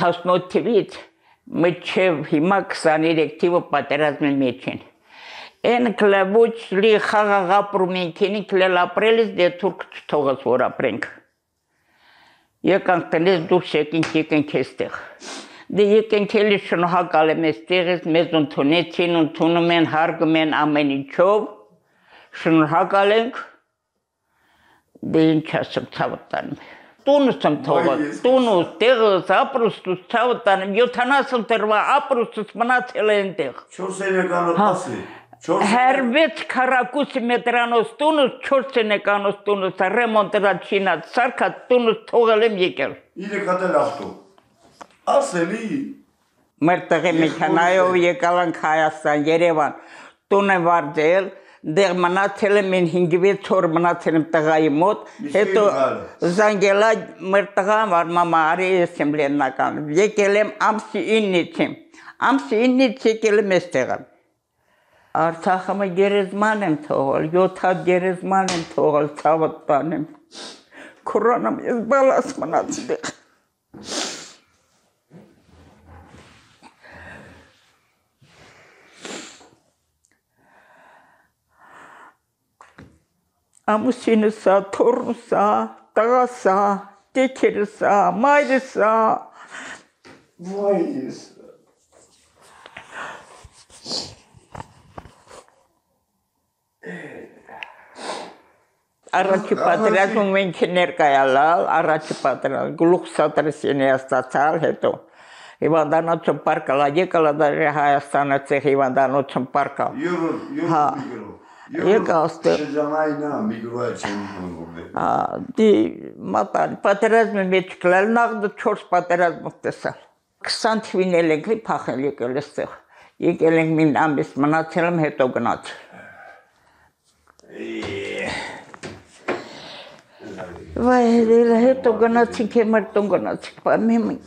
18 թվից մինչև հիմա 23 թիվը պատերազմի մեջ են։ Են կլավոչ լի խաղաղ ապրում ենք, ինքնել ապրելիս դե թուրք չթողած որ ապրենք։ Եկանք տնես դուրս եկենք էստեղ։ Դե եկենք էլի շնորհակալ եմ էստեղից, մեզ ընդունեցին, ընդունում են, հարգում են ամեն ինչով, շնորհակալ ենք, դե ինչ ասեմ, ցավը տանում։ Տունս եմ թողել, տունս, տեղս, ապրուստուս, ցավը տանում, 70 տարվա ապրուստուս մնացել է այնտեղ։ 4 սենեկանոց ասի։ Հերվեց քառակուս մետրանոց տունս, 4 սենեկանոց տունս, ռեմոնտած շինած, սարքած տունս թողել եմ եկել։ 3 հատ էլ ավտո։ Ասելի։ Մեր տեղի մեքենայով եկալ ենք Հայաստան, Երևան, տուն եմ վարձել, դեղ մնացել եմ 5-6 օր մնացել եմ տղայի մոտ, հետո զանգելա մեր տղան վար մամա արի ես եմ լեննական, եկել եմ ամսի 9-ից եկել եմ էստեղ։ Արցախը գերեզման եմ թողել, 7 հատ գերեզման եմ թողել, ցավը տանեմ, քուրանամ ես բալաս մնացել դեղ։ Ամուսինս ա, թոռնս ա, տղաս ա, տեքերս ա, մայրս ա։ Վայիս։ Առաջի պատերազմում մենք ներկայալալ, առաջի պատերազմ, գլուխ Սատրասյանի ստացալ, հետո հիվանդանոցում պարկալա, եկալա դարի Հայաստանը ցեղ հիվանդանոցում պարկալ։ Եկա աստեղ։ Շրջանայինա միգրոյա չեմ հանգորդ։ Դի մատան, պատերազմի մեջ կլալ, նախ 4 պատերազմով տեսալ։ 20 թվին էլ ենք լի փախել եկել էստեղ։ Եկել ենք մին ամիս մնացել եմ, հետո գնացել։ Վայ, հետո գնացինք, մեր տուն գնացինք, պայմեմ ենք։